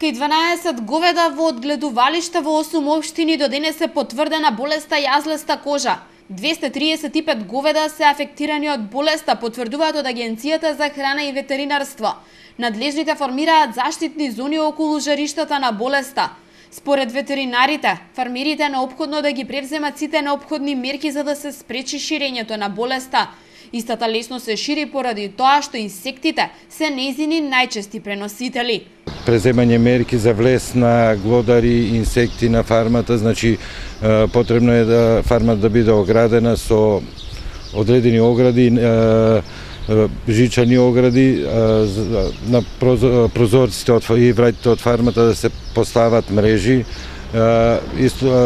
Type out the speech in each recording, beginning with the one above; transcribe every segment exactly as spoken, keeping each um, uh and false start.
Кај дванаесет говеда во одгледувалишта во осум општини до денес е потврдена болеста јазлеста кожа. двесте триесет и пет говеда се афектирани од болеста, потврдуваат од Агенцијата за храна и ветеринарство. Надлежните формираат заштитни зони околу жариштата на болеста. Според ветеринарите, фармерите е неопходно да ги превземат сите неопходни мерки за да се спречи ширењето на болеста. Истата лесно се шири поради тоа што инсектите се нејзини најчести преносители. Преземање мерки за влез на глодари, инсекти на фармата, значи потребно е да фармата да биде оградена со одредени огради, жичани огради, на прозорците и вратите од фармата да се постават мрежи,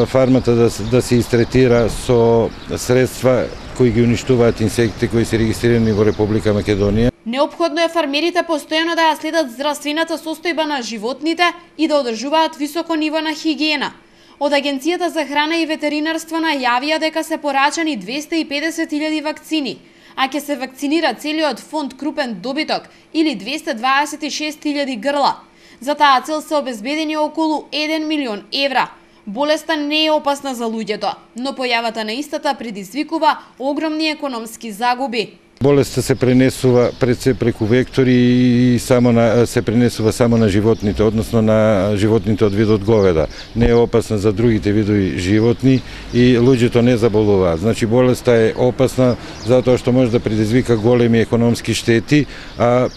фармата да, да се истретира со средства кои ги уништуваат инсекти кои се регистрирани во Република Македонија. Неопходно е фармерите постојано да ја следат здравствената состојба на животните и да одржуваат високо ниво на хигиена. Од Агенцијата за храна и ветеринарство најавија дека се порачани двесте и педесет илјади вакцини, а ќе се вакцинира целиот фонд крупен добиток или двесте дваесет и шест илјади грла. За таа цел се обезбедени околу еден милион евра. Болеста не е опасна за луѓето, но појавата на истата предизвикува огромни економски загуби. Болеста се пренесува пред се преку вектори и само на, се пренесува само на животните, односно на животните од видот говеда. Не е опасна за другите видови животни и луѓето не заболуваат. Значи болеста е опасна затоа што може да предизвика големи економски штети, а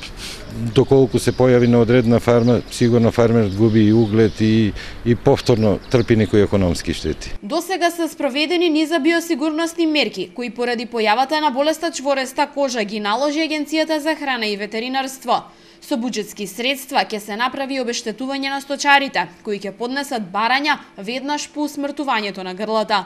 доколку се појави на одредена фарма, сигурно фармерот губи и углед и, и повторно трпи некои економски штети. До сега се спроведени низа биосигурносни мерки, кои поради појавата на болеста чвореста кожа ги наложи Агенцијата за храна и ветеринарство. Со буџетски средства ќе се направи обештетување на сточарите, кои ќе поднесат барања веднаш по усмртувањето на грлата.